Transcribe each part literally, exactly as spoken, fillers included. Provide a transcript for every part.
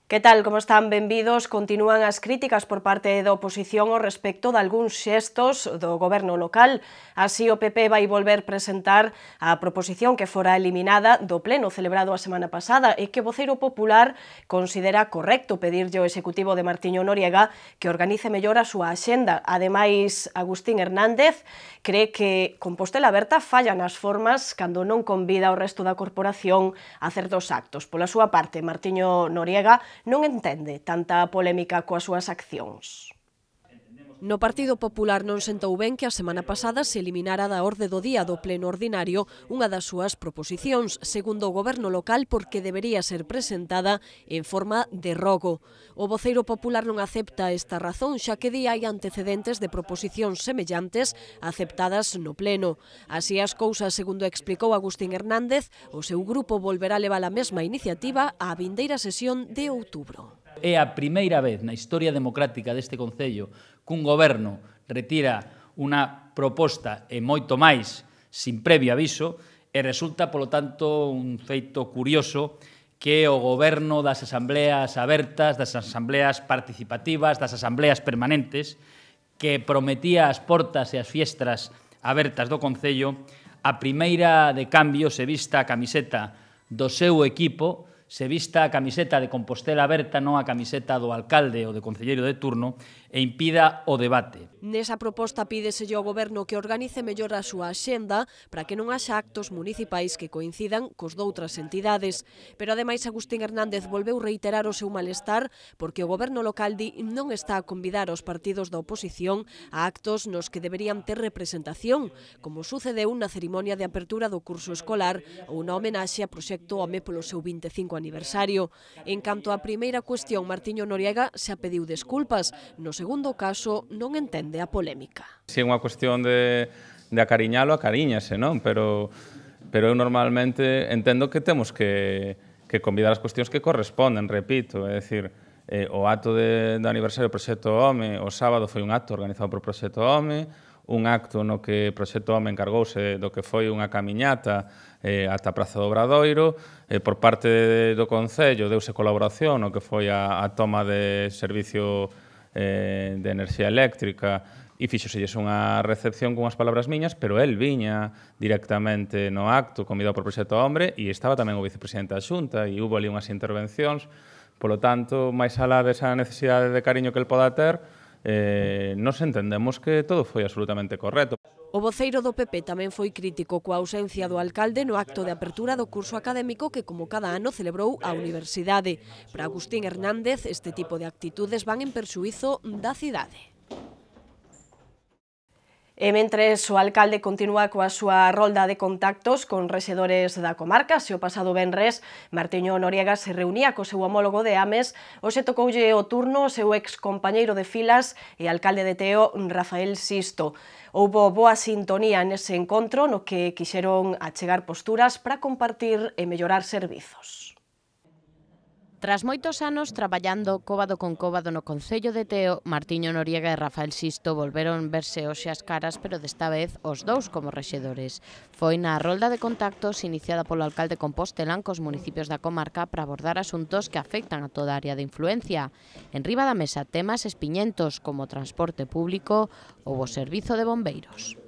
Que tal, como están? Benvidos. Continúan as críticas por parte da oposición ao respecto de algúns xestos do goberno local. Así, o P P vai volver presentar a proposición que fora eliminada do pleno celebrado a semana pasada e que o voceiro popular considera correcto pedirlle ao Executivo de Martiño Noriega que organice mellor a súa axenda. Ademais, Agustín Hernández cree que Compostela Aberta falla nas formas cando non convida ao resto da corporación a certos actos. Pola súa parte, Martiño Noriega non entende tanta polémica coas súas accións. No Partido Popular non sentou ben que a semana pasada se eliminara da orde do día do pleno ordinario unha das súas proposicións, segundo o goberno local, porque debería ser presentada en forma de rogo. O voceiro popular non acepta esta razón, xa que di hai antecedentes de proposicións semellantes aceptadas no pleno. Así as cousas, segundo explicou Agustín Hernández, o seu grupo volverá levar a mesma iniciativa á vindeira sesión de outubro. É a primeira vez na historia democrática deste Concello que un goberno retira unha proposta e moito máis sin previo aviso e resulta, polo tanto, un feito curioso que o goberno das asambleas abertas, das asambleas participativas, das asambleas permanentes, que prometía as portas e as fiestras abertas do Concello, a primeira de cambio se vista a camiseta do seu equipo, se vista a camiseta de Compostela Aberta, non a camiseta do alcalde ou do concelleiro de turno, e impida o debate. Nesa proposta pídeselle ao goberno que organice mellor a súa axenda para que non haxa actos municipais que coincidan cos doutras entidades. Pero ademais Agustín Hernández volveu reiterar o seu malestar porque o goberno local di non está a convidar aos partidos da oposición a actos nos que deberían ter representación, como sucedeu na cerimonia de apertura do curso escolar ou na homenaxe a Proxecto Home polo seu vinte e cinco aniversario. En canto á primeira cuestión, Martiño Noriega xa pediu desculpas. No segundo caso, non entende a polémica. Se é unha cuestión de, de acariñalo, acariñase, non? Pero, pero eu normalmente entendo que temos que, que convidar as cuestións que corresponden, repito. É dicir, eh, o acto de, do aniversario do Proxecto Home, o sábado foi un acto organizado por Proxecto Home, un acto no que Proxecto Home encargouse do que foi unha camiñata eh, ata a Praza do Obradoiro. Eh, por parte do Concello deuse colaboración no que foi a, a toma de servicio eh, de enerxía eléctrica e fixoselles unha recepción con unhas palabras miñas, pero el viña directamente no acto convidado por Proxecto Home e estaba tamén o vicepresidente da Xunta e hubo ali unhas intervencións. Polo tanto, máis alá desa necesidade de cariño que el poda ter, Eh, nos entendemos que todo foi absolutamente correcto. O voceiro do P P tamén foi crítico coa ausencia do alcalde no acto de apertura do curso académico que, como cada ano, celebrou a Universidade. Para Agustín Hernández, este tipo de actitudes van en perxuízo da cidade. E mentres o alcalde continúa coa súa rolda de contactos con rexedores da comarca, se o pasado venres Martiño Noriega se reunía co seu homólogo de Ames, hoxe tocoulle o turno o seu ex compañeiro de filas e alcalde de Teo, Rafael Sisto. Houbo boa sintonía nese encontro no que quixeron achegar posturas para compartir e mellorar servizos. Tras moitos anos traballando cóbado con cóbado no Concello de Teo, Martiño Noriega e Rafael Sisto volveron verse hoxe as caras, pero desta vez os dous como rexedores. Foi na rolda de contactos iniciada polo alcalde compostelán cos municipios da comarca para abordar asuntos que afectan a toda a área de influencia. En riba da mesa temas espiñentos como transporte público ou o servizo de bombeiros.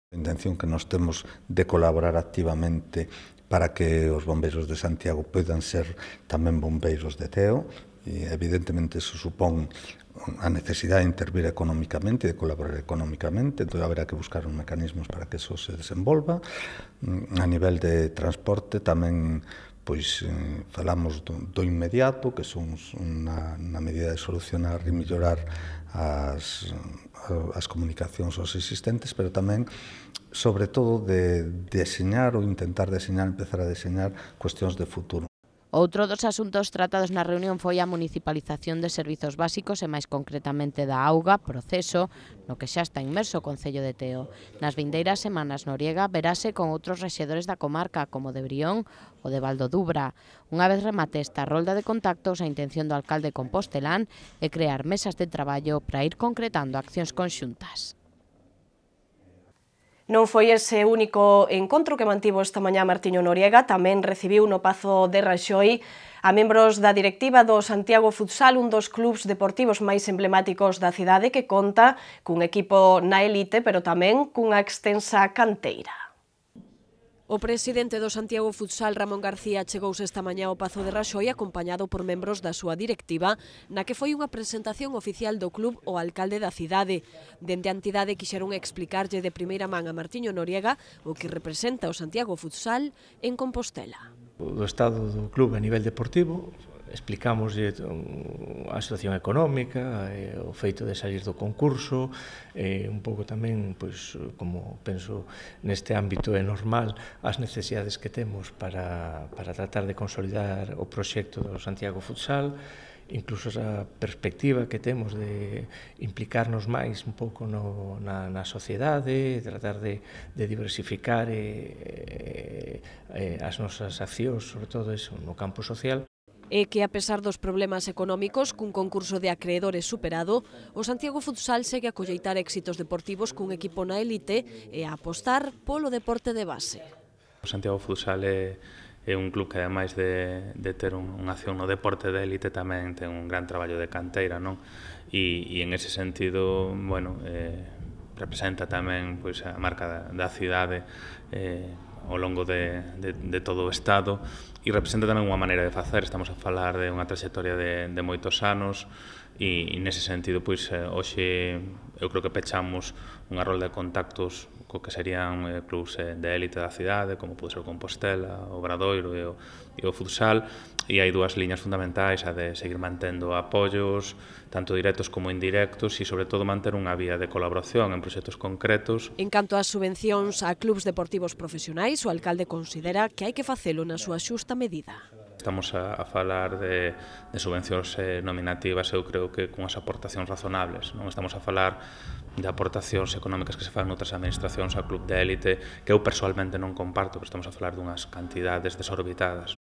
A intención que nós temos de colaborar activamente para que os bombeiros de Santiago poidan ser tamén bombeiros de Teo, e evidentemente eso supón a necesidade de intervir económicamente, de colaborar económicamente, entón haberá que buscar uns mecanismos para que eso se desenvolva. A nivel de transporte tamén pois eh, falamos do, do inmediato, que son unha, unha medida de solucionar e mellorar as, as comunicacións aos existentes, pero tamén sobre todo de deseñar ou intentar deseñar, empezar a deseñar cuestións de futuro. Outro dos asuntos tratados na reunión foi a municipalización de servizos básicos e máis concretamente da auga, proceso no que xa está inmerso o Concello de Teo. Nas vindeiras semanas Noriega verase con outros rexedores da comarca como de Brión ou de Valdodubra. Unha vez remate esta rolda de contactos, a intención do alcalde compostelán é crear mesas de traballo para ir concretando accións conxuntas. Non foi ese único encontro que mantivo esta mañá Martiño Noriega, tamén recibiu no Pazo de Raxoi a membros da directiva do Santiago Futsal, un dos clubs deportivos máis emblemáticos da cidade que conta cun equipo na elite, pero tamén cunha extensa canteira. O presidente do Santiago Futsal, Ramón García, chegouse esta mañá ao Pazo de Raxoi acompañado por membros da súa directiva, na que foi unha presentación oficial do club ao alcalde da cidade. Dende a entidade quixeron explicarlle de primeira man a Martiño Noriega o que representa o Santiago Futsal en Compostela. O estado do club a nivel deportivo, explicamos a situación económica, o feito de salir do concurso, un pouco tamén, pois, como penso neste ámbito é normal, as necesidades que temos para, para tratar de consolidar o proxecto do Santiago Futsal, incluso a perspectiva que temos de implicarnos máis un pouco no, na, na sociedade, tratar de, de diversificar eh, eh, as nosas accións, sobre todo eso, no campo social. E que, a pesar dos problemas económicos, cun concurso de acreedores superado, o Santiago Futsal segue a colleitar éxitos deportivos cun equipo na elite e a apostar polo deporte de base. O Santiago Futsal é, é un club que, ademais de, de ter un, unha acción no deporte de elite, tamén ten un gran traballo de canteira, non? E, e en ese sentido, bueno, eh, representa tamén pois, a marca da, da cidade eh, ao longo de, de, de todo o Estado, e representa tamén unha maneira de facer. Estamos a falar de unha trayectoria de, de moitos anos e, e nese sentido, pois, hoxe eu creo que pechamos unha rolda de contactos co que serían eh, clubs eh, de élite da cidade, como pode ser o Compostela, o Obradoiro e o, e o Futsal, e hai dúas liñas fundamentais, a de seguir mantendo apoios, tanto directos como indirectos, e sobre todo manter unha vía de colaboración en proxectos concretos. En canto ás subvencións a clubs deportivos profesionais, o alcalde considera que hai que facelo na súa xusta medida. Estamos a, a falar de, de subvencións eh, nominativas, eu creo que con as aportacións razonables. Non estamos a falar de aportacións económicas que se fan noutras administracións a club de élite, que eu persoalmente non comparto, pero estamos a falar dunhas cantidades desorbitadas.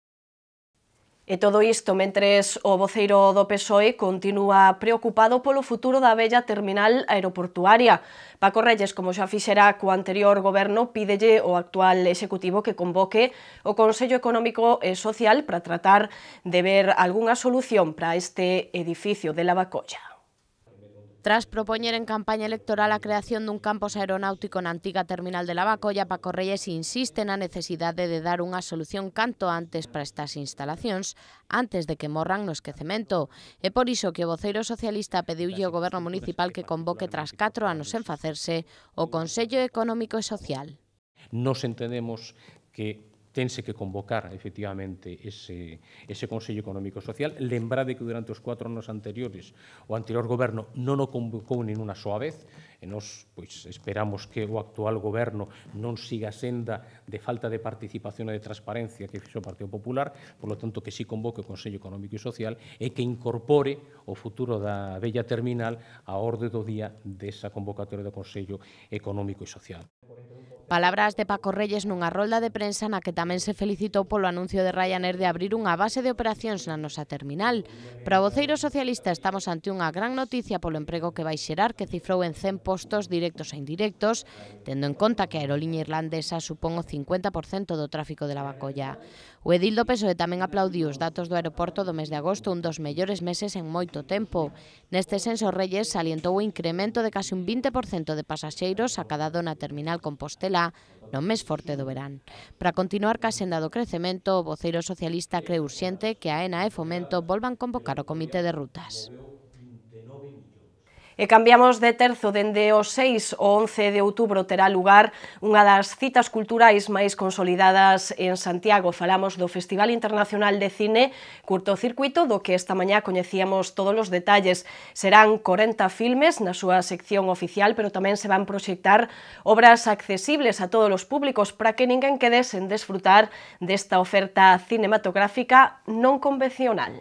E todo isto mentres o voceiro do P S O E continúa preocupado polo futuro da vella terminal aeroportuaria. Paco Reyes, como xa fixera co anterior goberno, pídelle ao actual executivo que convoque o Consello Económico e Social para tratar de ver algunha solución para este edificio de Lavacolla. Tras propoñer en campaña electoral a creación dun campus aeronáutico na antiga terminal de Lavacolla, Paco Reyes insiste na necesidade de dar unha solución canto antes para estas instalacións, antes de que morran no esquecemento. É por iso que o voceiro socialista pediulle ao Goberno Municipal que convoque tras catro anos en facerse o Consello Económico e Social. Nos entendemos que tense que convocar, efectivamente, ese, ese Consello Económico e Social. Lembrade que durante os cuatro anos anteriores o anterior goberno non o convocou nin unha soa vez, e nós pois, esperamos que o actual goberno non siga a senda de falta de participación e de transparencia que fixo o Partido Popular, por lo tanto que si convoque o Consello Económico e Social e que incorpore o futuro da vella terminal á orde do día desa convocatoria do Consello Económico e Social. Palabras de Paco Reyes nunha rolda de prensa na que tamén se felicitou polo anuncio de Ryanair de abrir unha base de operacións na nosa terminal. Para o voceiro socialista estamos ante unha gran noticia polo emprego que vai xerar, que cifrou en cen postos directos e indirectos, tendo en conta que a aeroliña irlandesa supón o cincuenta por cento do tráfico de Lavacolla. O edil do P S O E tamén aplaudiu os datos do aeroporto do mes de agosto, un dos mellores meses en moito tempo. Neste senso, Reyes salientou o incremento de case un vinte por cento de pasaxeiros acadado na terminal Compostela no mes forte do verán. Para continuar ca senda do crecemento, o voceiro socialista cree urxente que a AENA e Fomento volvan convocar o Comité de Rutas. E cambiamos de terzo. Dende o seis ao once de outubro terá lugar unha das citas culturais máis consolidadas en Santiago. Falamos do Festival Internacional de Cine Curtocircuito, do que esta mañá coñecíamos todos os detalles. Serán corenta filmes na súa sección oficial, pero tamén se van proxectar obras accesibles a todos os públicos para que ninguén quede sen desfrutar desta oferta cinematográfica non convencional.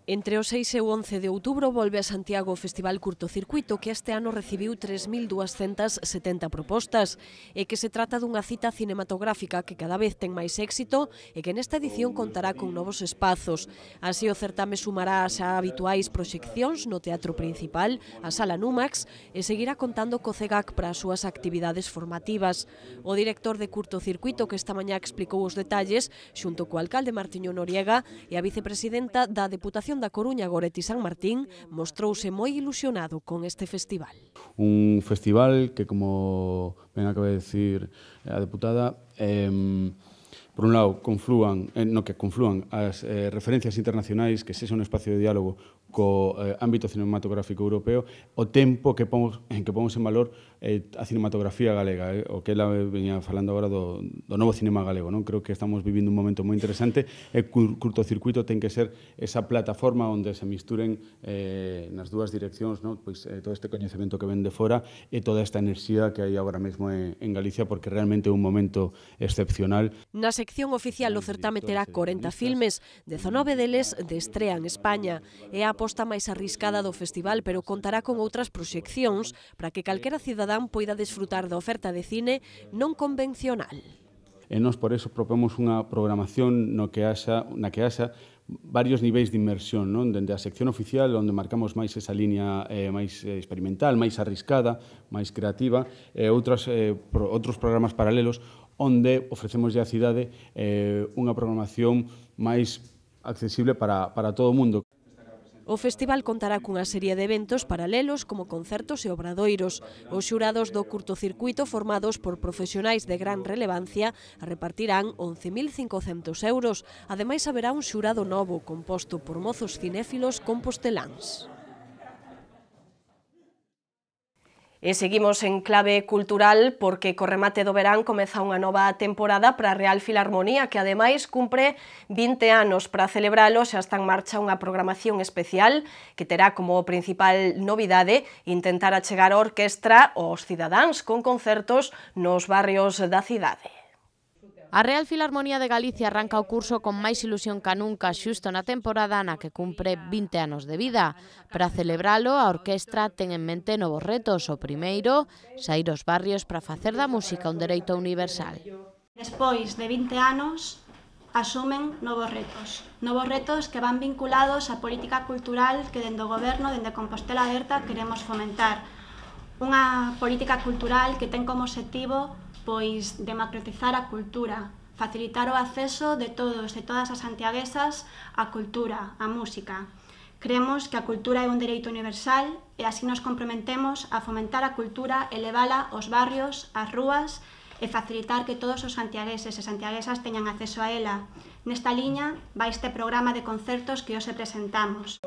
Entre o seis e o once de outubro volve a Santiago o Festival Curtocircuito, que este ano recibiu tres mil duascentas setenta propostas e que se trata dunha cita cinematográfica que cada vez ten máis éxito e que nesta edición contará con novos espazos. Así o certame sumará as xa habituais proxeccións no Teatro Principal, a Sala Numax, e seguirá contando co C E G A C para as súas actividades formativas. O director de Curtocircuito, que esta mañá explicou os detalles, xunto co alcalde Martiño Noriega e a vicepresidenta da Deputación da Coruña, Goretti San Martín, mostrouse moi ilusionado con este festival. Un festival que, como ben acaba de decir a deputada, eh, por un lado, conflúan, eh, no que conflúan as eh, referencias internacionais, que sexa un espacio de diálogo co eh, ámbito cinematográfico europeo, o tempo que pomos, en que pomos en valor eh, a cinematografía galega, eh, o que ela veña falando agora do, do novo cinema galego. Non? Creo que estamos vivindo un momento moi interesante e Curtocircuito ten que ser esa plataforma onde se misturen eh, nas dúas direccións, non? Pois, eh, todo este coñecemento que ven de fora e toda esta enerxía que hai agora mesmo en, en Galicia, porque realmente é un momento excepcional. Na sección oficial o certame terá corenta filmes, dezanove deles de estrea en España. É a aposta máis arriscada do festival, pero contará con outras proxeccións para que calquera cidadán poida desfrutar da oferta de cine non convencional. E nós por eso propomos unha programación no que haxa, na que haxa varios niveis de inmersión, non? Dende a sección oficial, onde marcamos máis esa línea eh, máis experimental, máis arriscada, máis creativa, e outros, eh, pro, outros programas paralelos onde ofrecemos á cidade eh, unha programación máis accesible para, para todo o mundo. O festival contará cunha serie de eventos paralelos como concertos e obradoiros. Os xurados do Curtocircuito, formados por profesionais de gran relevancia, repartirán once mil cincocentos euros. Ademais, haberá un xurado novo, composto por mozos cinéfilos composteláns. E seguimos en clave cultural porque co remate do verán comeza unha nova temporada para a Real Filarmonía, que ademais cumpre vinte anos. Para celebralo xa está en marcha unha programación especial que terá como principal novidade intentar achegar a orquestra aos cidadáns con concertos nos barrios da cidade. A Real Filarmonía de Galicia arranca o curso con máis ilusión ca nunca xusto na temporada na que cumpre vinte anos de vida. Para celebralo, a orquestra ten en mente novos retos. O primeiro, saír aos barrios para facer da música un dereito universal. Despois de vinte anos, asumen novos retos. Novos retos que van vinculados á política cultural que dende o Goberno, dende Compostela Aberta, queremos fomentar. Unha política cultural que ten como objetivo pois democratizar a cultura, facilitar o acceso de todos e todas as santiaguesas á cultura, á música. Creemos que a cultura é un dereito universal e así nos comprometemos a fomentar a cultura e levala aos barrios, ás rúas e facilitar que todos os santiagueses e santiaguesas teñan acceso a ela. Nesta liña vai este programa de concertos que hoxe presentamos.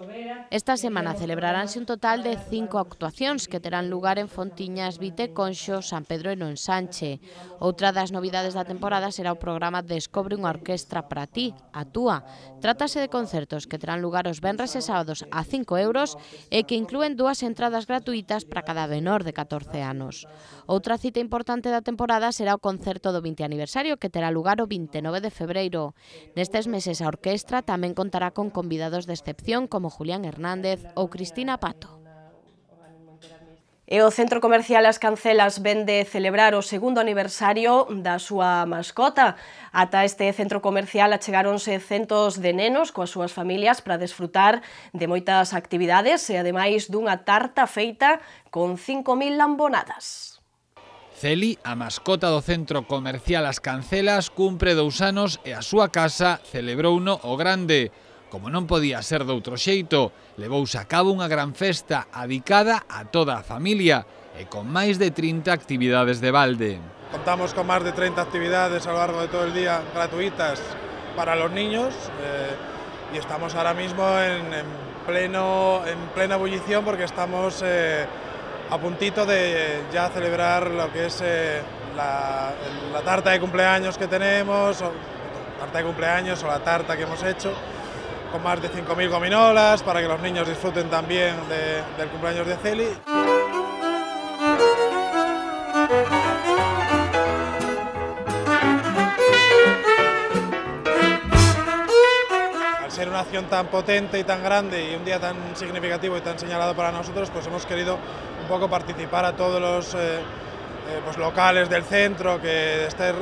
Esta semana celebraránse un total de cinco actuacións que terán lugar en Fontiñas, Vite, Conxo, San Pedro e no Ensanche. Outra das novidades da temporada será o programa Descobre unha orquestra para ti, a túa. Trátase de concertos que terán lugar os venres e sábados a cinco euros e que inclúen dúas entradas gratuitas para cada menor de catorce anos. Outra cita importante da temporada será o concerto do vinte aniversario que terá lugar o vinte e nove de febreiro. Nestes meses a orquestra tamén contará con convidados de excepción como Julián Hernández ou Cristina Pato. E o Centro Comercial As Cancelas vende celebrar o segundo aniversario da súa mascota. Ata este centro comercial achegáronse centos de nenos coas súas familias para desfrutar de moitas actividades e ademais dunha tarta feita con cinco mil lambonadas. Celi, a mascota do Centro Comercial As Cancelas, cumpre dous anos e a súa casa celebrouno o grande. Como non podía ser doutro xeito, levouse a cabo unha gran festa adicada a toda a familia e con máis de trinta actividades de balde. Contamos con máis de treinta actividades a lo largo de todo el día gratuitas para los niños eh, y estamos ahora mismo en, en, pleno, en plena ebullición porque estamos eh, a puntito de ya celebrar lo que es eh, la, la tarta de cumpleaños que tenemos, o tarta de cumpleaños o la tarta que hemos hecho, con más de cinco mil gominolas para que los niños disfruten también de, del cumpleaños de Celi. Al ser una acción tan potente y tan grande y un día tan significativo y tan señalado para nosotros, pues hemos querido un poco participar a todos los eh, eh, pues locales del centro, que esté,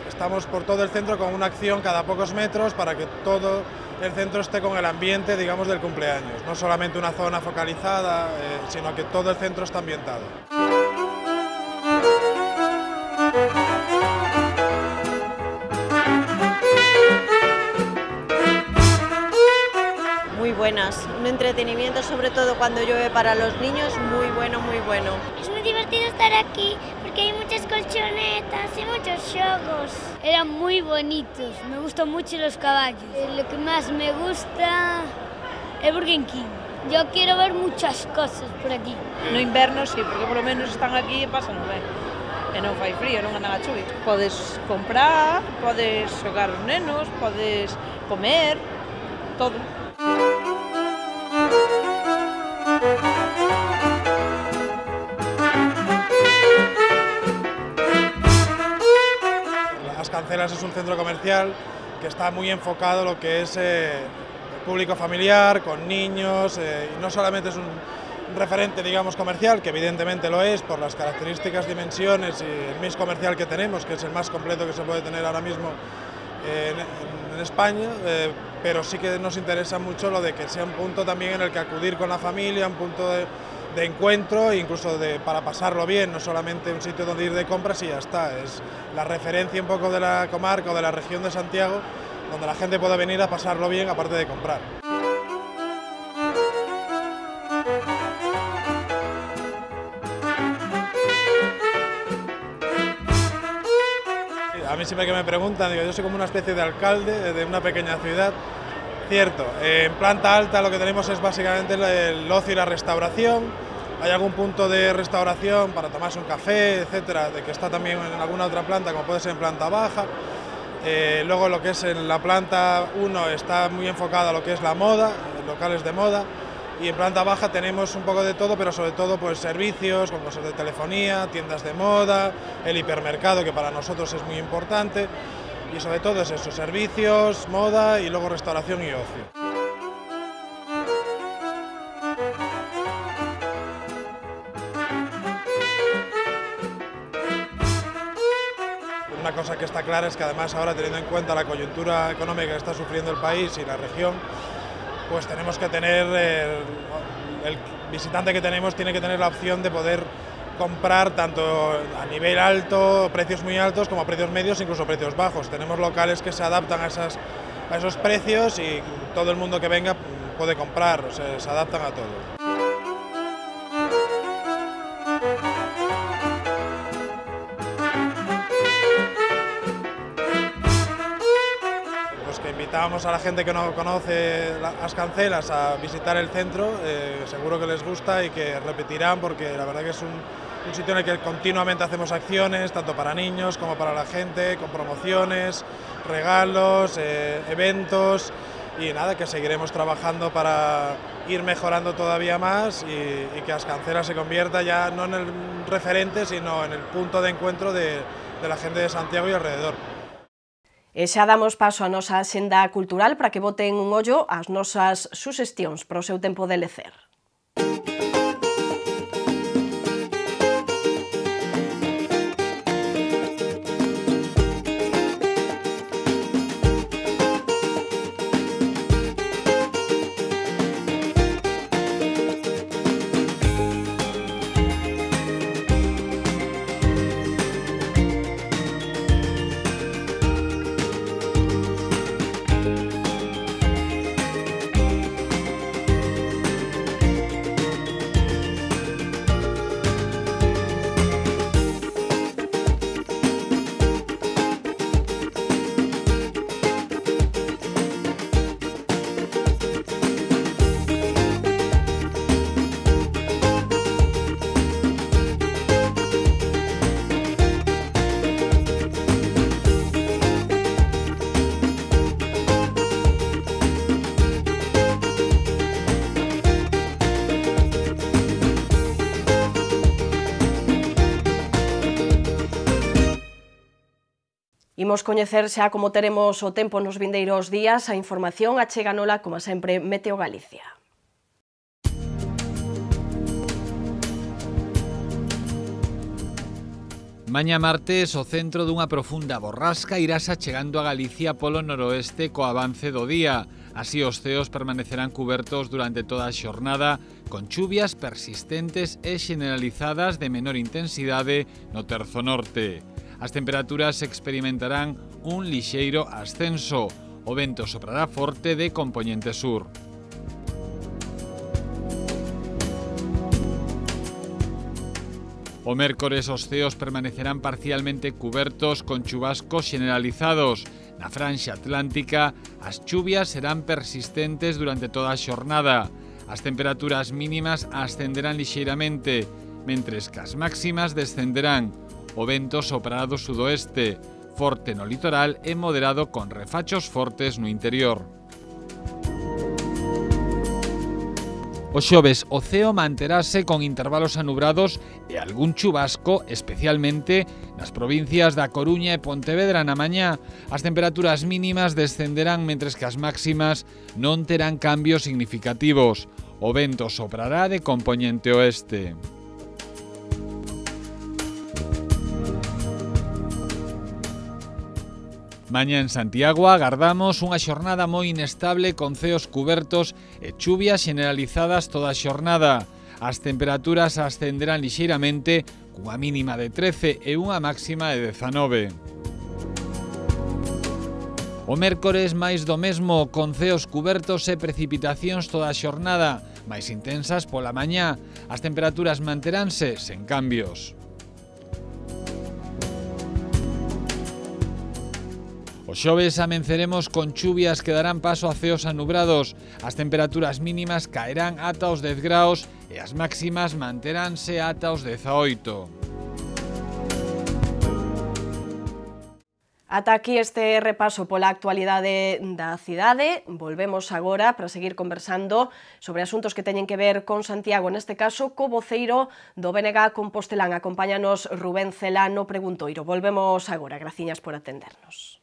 estamos por todo el centro con una acción cada pocos metros para que todo el centro esté con el ambiente, digamos, del cumpleaños. No solamente una zona focalizada, eh, sino que todo el centro está ambientado. Muy buenas, un entretenimiento sobre todo cuando llueve para los niños, muy bueno, muy bueno. Es muy divertido estar aquí porque hay muchas colchonetas y muchos juegos. Eran muy bonitos, me gustan mucho los caballos. Lo que más me gusta es Burger King. Yo quiero ver muchas cosas por aquí. No inverno sí, porque por lo menos están aquí e pasan ben. E non fai frío, non andan a chuvia. Podes comprar, podes xogar os nenos, podes comer, todo. As Cancelas es un centro comercial que está muy enfocado a lo que es eh, el público familiar, con niños, eh, y no solamente es un referente, digamos, comercial, que evidentemente lo es por las características, dimensiones y el mix comercial que tenemos, que es el más completo que se puede tener ahora mismo eh, en, en España, eh, pero sí que nos interesa mucho lo de que sea un punto también en el que acudir con la familia, un punto de, de encuentro, incluso de, para pasarlo bien, no solamente un sitio donde ir de compras y ya está. Es la referencia un poco de la comarca o de la región de Santiago, donde la gente puede venir a pasarlo bien aparte de comprar. A mí siempre que me preguntan, digo, yo soy como una especie de alcalde de una pequeña ciudad. Cierto, en planta alta lo que tenemos es básicamente el ocio y la restauración. Hay algún punto de restauración para tomarse un café, etcétera, de que está también en alguna otra planta, como puede ser en planta baja. Eh, luego lo que es en la planta uno está muy enfocado a lo que es la moda, locales de moda. Y en planta baja tenemos un poco de todo, pero sobre todo pues servicios, con cosas de telefonía, tiendas de moda, el hipermercado, que para nosotros es muy importante, y sobre todo es eso, servicios, moda y luego restauración y ocio. Una cosa que está clara es que además ahora, teniendo en cuenta la coyuntura económica que está sufriendo el país y la región, pues tenemos que tener, eh, el visitante que tenemos tiene que tener la opción de poder comprar tanto a nivel alto, precios muy altos, como a precios medios, incluso precios bajos. Tenemos locales que se adaptan a, esas, a esos precios y todo el mundo que venga puede comprar, o sea, se adaptan a todo. Invitábamos a la gente que no conoce las Cancelas a visitar el centro, eh, seguro que les gusta y que repetirán, porque la verdad que es un, un sitio en el que continuamente hacemos acciones, tanto para niños como para la gente, con promociones, regalos, eh, eventos, y nada, que seguiremos trabajando para ir mejorando todavía más y, y que As Cancelas se convierta ya no en el referente, sino en el punto de encuentro de, de la gente de Santiago y alrededor. E xa damos paso á nosa axenda cultural para que boten un ollo ás nosas suxestións para o seu tempo de lecer. Imos coñecer xa como teremos o tempo nos vindeiros días. A información achéganola, como sempre, Meteo Galicia. Mañá martes, o centro dunha profunda borrasca irase chegando a Galicia polo noroeste co avance do día. Así os ceos permanecerán cubertos durante toda a xornada, con chuvias persistentes e xeneralizadas de menor intensidade no terzo norte. As temperaturas experimentarán un lixeiro ascenso. O vento soprará forte de compoñente sur. O mércores os ceos permanecerán parcialmente cubertos con chubascos xeneralizados. Na franxa atlántica, as chuvias serán persistentes durante toda a xornada. As temperaturas mínimas ascenderán lixeiramente, mentres que as máximas descenderán. O vento soprará do sudoeste, forte no litoral e moderado con refachos fortes no interior. O xoves, o ceo manterase con intervalos anubrados e algún chubasco, especialmente nas provincias da Coruña e Pontevedra na mañá. As temperaturas mínimas descenderán mentres que as máximas non terán cambios significativos. O vento soprará de compoñente oeste. Mañá en Santiago agardamos unha xornada moi inestable con ceos cubertos e chuvias xeneralizadas toda a xornada. As temperaturas ascenderán lixeiramente cunha mínima de trece e unha máxima de dezanove. O mércores máis do mesmo, con ceos cubertos e precipitacións toda a xornada, máis intensas pola mañá. As temperaturas manteránse sen cambios. O xoves amenceremos con chuvias que darán paso a ceos anubrados. As temperaturas mínimas caerán ata os dez graus e as máximas manteránse ata os dezaoito. Ata aquí este repaso pola actualidade da cidade. Volvemos agora para seguir conversando sobre asuntos que teñen que ver con Santiago, neste caso co voceiro do B N G Compostelán. Acompáñanos Rubén Celano Preguntoiro. Volvemos agora. Graciñas por atendernos.